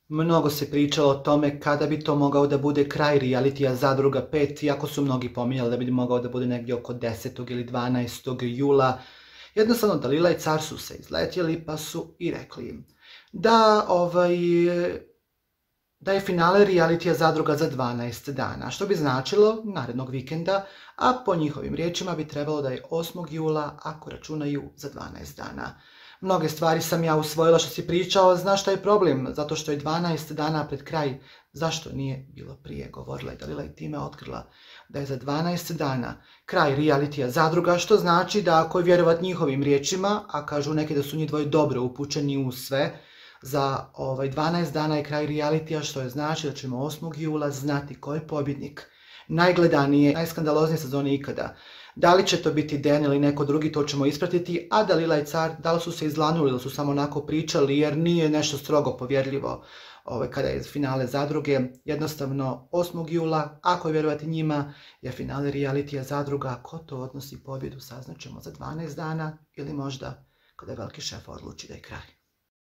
Mnogo se pričalo o tome kada bi to mogao da bude kraj realitija Zadruga 5, iako su mnogi pominjali da bi mogao da bude negdje oko 10. ili 12. jula. Jednostavno, Dalila i car su se izletjeli pa su i rekli im da je finale realitija Zadruga za 12 dana, što bi značilo narednog vikenda, a po njihovim riječima bi trebalo da je 8. jula ako računaju za 12 dana. Mnoge stvari sam ja usvojila što si pričao, znaš šta je problem, zato što je 12 dana pred kraj, zašto nije bilo prije, govorila je Dalila i time otkrila da je za 12 dana kraj realitija Zadruga, što znači da ako je vjerovat njihovim riječima, a kažu neki da su njih dvoje dobro upućeni u sve, za 12 dana je kraj realitija, što je znači da ćemo 8. jula znati ko je pobjednik najgledanije, najskandaloznije sezone ikada. Da li će to biti Den ili neko drugi, to ćemo ispratiti, a Dalila i car, da li su se izlanuli ili su samo onako pričali, jer nije nešto strogo povjerljivo kada je finale Zadruge. Jednostavno 8. jula, ako je vjerovati njima, je finale realitija Zadruga. Ko to odnosi pobjedu saznaćemo za 12 dana ili možda kada veliki šef odluči da je kraj.